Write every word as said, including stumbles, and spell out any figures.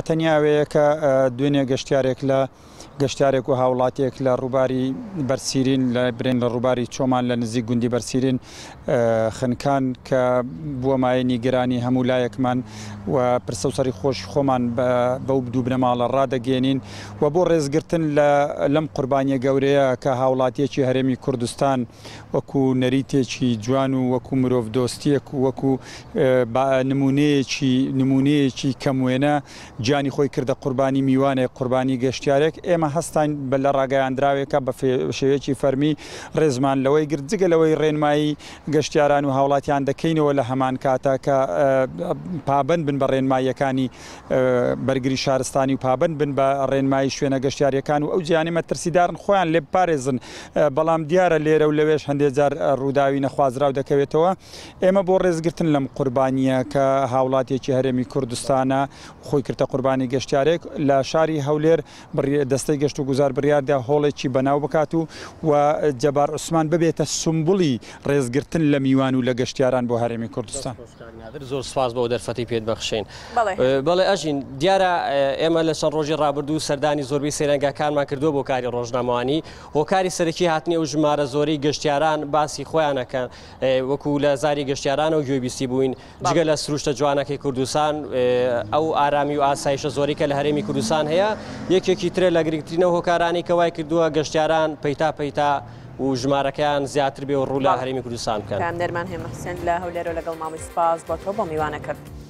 تەنیا ئەوەیە کە دوێنێ گەشتیارێک لە گەشتیارێک و هاوڵاتیەک لە ڕووباری بەرسیرین لە برێن لە ڕووباری چۆمان لە نزیک گوندی بەرسیرین خنکان کە بووە مایەی نیگەرانی هەموو لایەکمان و پرسە و سەری خۆش خۆمان بەو دوو بنەماڵە ڕادەگەێنین و بۆ ڕێزگرتن لەم قوربانیە گەورەیە کە هاوڵاتیەکی هەرێمی کوردستان وەکو نەریتێکی جوان و وەکو مرۆڤ دۆستیەک و وەکو نمونەیەکی نمونەیەکی کەموێنە گیانی خۆی کردە قوربانی میوانێک، قوربانی گەشتیارێک. ئێمە هەستاین بە لە ڕاگەیاندراوێکە بە شێوەیەکی فەرمی ڕێزمان لەوەی گرت، جگە لەوەی ڕێنمایی گەشتیاران و هاوڵاتیان دەکەینەوە لە هەمان کاتە کە پابند بن بە ڕێنماییەکانی بەرگری شارستانی و پابند بن بە ڕێنمایی شوێنە گەشتیاریەکان و ئەو جیانی مەترسیدارن خۆیان لێ بپارێزن. بەڵام دیارە لێرە و لەوێش هەندێک جار ڕووداوی نەخوازراو دەکەوێتەوە. ئێمە بۆ ڕێزگرتن لەم قوربانیە کە هاوڵاتیەکی هەرێمی کوردستانە خۆی کردە قوربانی گەشتیارێک لە شاری هەولێر دەستەی گەشت و گوزار بڕیاردا هۆڵێکی بەناو بکات و و جەبار عوسمان ببێتە سمبولی ڕێزگرتن لە میوان و لە گەشتیاران بۆ هەرێمی کوردستان. زۆر سپاس بۆ دەرفەتی پێت بەخشین. بەڵێ ئەژین، دیارە ئێمە لە چەند ڕۆژی ڕابردوو سەردانی زۆربەی سەیرانگاکانمان کردووە بۆ کاری ڕۆژنامەوانی. هۆکاری سەرەکی هاتنی ئەو ژمارە زۆری گەشتیاران باسی خۆیانەکەن وەکو لە زاری گەشتیارانەوە گوێبیستی بووین، جگە لە سروشتە جوانەکەی کوردستان، ئەو ئارامی و ئاسایشە زۆری کە لە هەرێمی کوردستان هەیە یەکێکی ترە لە گرنگترینەوە هۆکارانی کە وای کردووە گەشتیاران پەیتا پەیتا و ژمارەکەیان زیاتر بێ و ڕوو لە هەرێمی کوردستان بکەن. پەیامنێرمان هێمە حوسێن لە هەولێرەوە لەگەڵ مامی سپاس بۆ تۆ بۆ میوانەکەت.